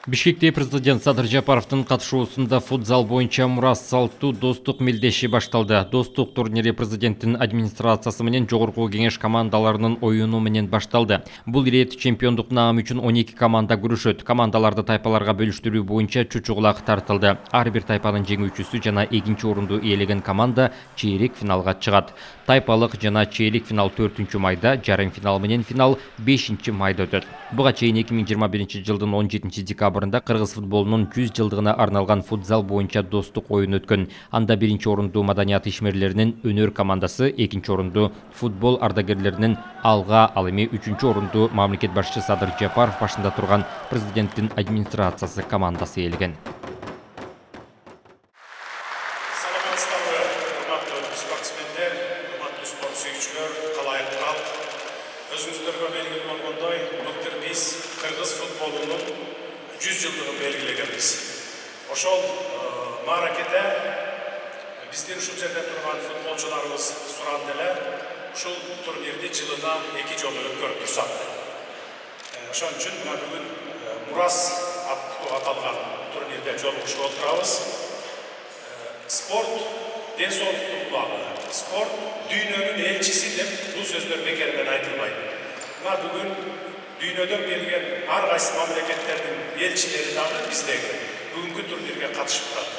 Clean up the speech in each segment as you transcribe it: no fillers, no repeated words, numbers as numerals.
Бишкекте президент Садыр Жапаровдун катышуусунда футзал боюнча Мурас Салтуу достук мелдеши башталды. Достук турнири президенттин администрациясы менен жогорку кеңеш командаларынын оюну менен башталды. Бул ирет чемпиондук наам үчүн 12 команда күрөшөт. Командаларды тайпаларга бөлүштүрүү боюнча чучугулак тартылды. Ар бир тайпанын жеңүүчүсү жана экинчи орунду ээлеген команда чейрек финалга чыгат. Тайпалык жана чейрек финал 4-майда, жарым финал менен финал 5-майда өтөт. Буга чейин 2021 жылдын 17 декабрында кыргыз футболунун 100 жылдыгына арналган футзал боюнча достук оюн өткөн. Анда биринчи орунду маданият ишмерлеринин өнөр командасы, экинчи орунду футбол ардагерлеринин алга, ал эми үчүнчү орунду мамлекет башчысы Садыр Жапаров башында турган президенттин администрациясы командасы ээлеген. Өзүңүздөргө белгилүү болгондой, былтыр биз кыргыз футболунун 100 жылдыгын белгилегенбиз. Ошол мааракеде биздин ушул жерде турган футболчуларыбыз суранды эле, ушул турнирди жылына 2 жолу өткөрүп турсак. Ошон үчүн мына бүгүн Мурас аттуу аталган турнирде жолугушуп отурабыз. Спорт ден соолуктун булагы, спорт дүйнөнүн элчиси деп бул сөздөр бекерден айтылбайт. Мына бүгүн дүйнөдөн келген ар кайсы мамлекеттердин элчилери дагы биздеги бүгүнкү турнирге катышып турат.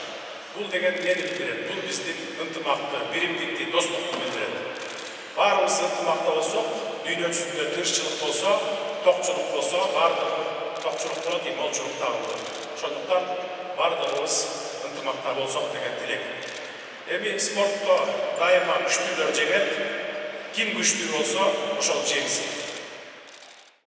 Бул деген эмнени билдирет? Бул биздин ынтымакты, биримдикти, достукту билдирет. Баарыбыз ынтымакта болсок, дүйнө жүзүндө тынччылык болсо, токчулук болсо, баардыгы токчулук болот, молчулук дагы болот. Ошондуктан баардыгыбыз ынтымакта болсок деген тилек. Эми спортто дайыма күчтүүлөр жеңет, ким күчтүү болсо ошол жеңсин.